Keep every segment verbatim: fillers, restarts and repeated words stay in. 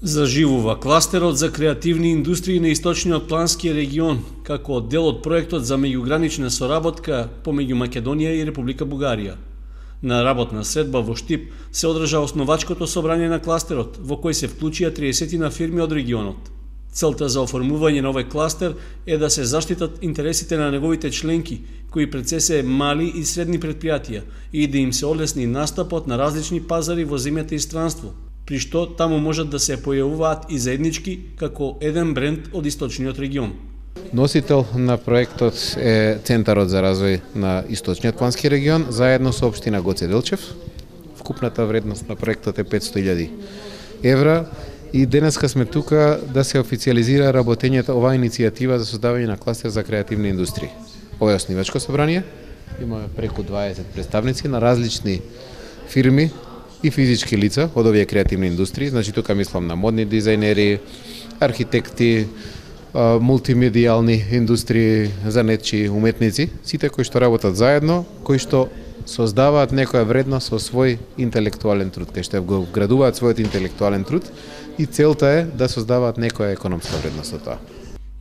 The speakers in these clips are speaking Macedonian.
Заживува кластерот за креативни индустрии на Источниот плански регион, како дел од проектот за меѓугранична соработка помеѓу Македонија и Република Бугарија. На работна средба во Штип се одржа основачкото собрање на кластерот, во кој се вклучија триесет фирми од регионот. Целта за оформување на овој кластер е да се заштитат интересите на неговите членки, кои пред се се мали и средни предпријатија, и да им се олесни настапот на различни пазари во земјата и странство, при што таму можат да се појавуваат и заеднички како еден бренд од Источниот регион. Носител на проектот е Центарот за развој на Источниот плански регион, заедно со општина Гоце Делчев. Вкупната вредност на проектот е петсто илјади евра и денеска сме тука да се официализира работењето оваа иницијатива за создавање на кластер за креативни индустрии. Ова е оснивачко собрание, имаме преку дваесет представници на различни фирми и физички лица од овие креативни индустрии, значи тука мислам на модни дизајнери, архитекти, мултимедијални индустрии, занетчи, уметници, сите кои што работат заедно, кои што создаваат некоја вредност со свој интелектуален труд, кај што го вградуваат својот интелектуален труд и целта е да создаваат некоја економска вредност од тоа.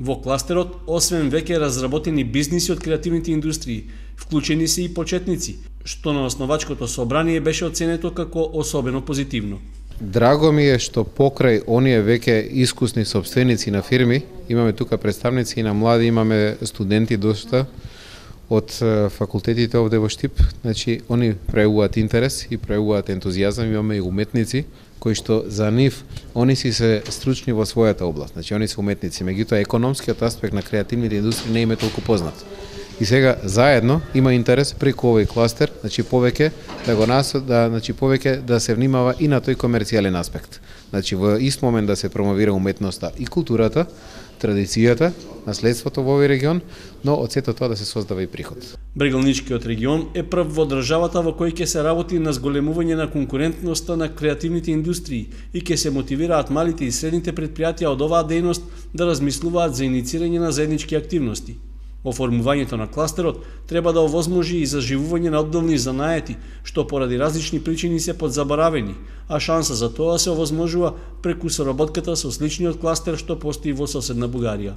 Во кластерот, освен веќе разработени бизниси од креативните индустрии, вклучени се и почетници, што на основачкото собрание беше оценето како особено позитивно. Драго ми е што покрај оние веќе искусни сопственици на фирми, имаме тука представници и на млади, имаме студенти доста од факултетите овде во Штип, значи они пројавуваат интерес и пројавуваат ентузијазам, имаме и уметници кои што за нив они си се стручни во својата област, значи они се уметници, меѓутоа економскиот аспект на креативните индустрии не им е толку познат. И сега заедно има интерес преку овој кластер, значи повеќе да го нас да значи повеќе да се внимава и на тој комерцијален аспект. Значи во ист момент да се промовира уметноста и културата, традицијата, наследството во овој регион, но од сето тоа да се создава и приход. Брегалничкиот регион е прв во државата во кој ќе се работи на зголемување на конкурентноста на креативните индустрии и ќе се мотивираат малите и средните предпријатија од оваа дејност да размислуваат за иницирање на заеднички активности. Оформувањето на кластерот треба да овозможи и заживување на одделни занаети, што поради различни причини се подзаборавени, а шанса за тоа се овозможува преку соработката со сличниот кластер што постои во соседна Бугарија.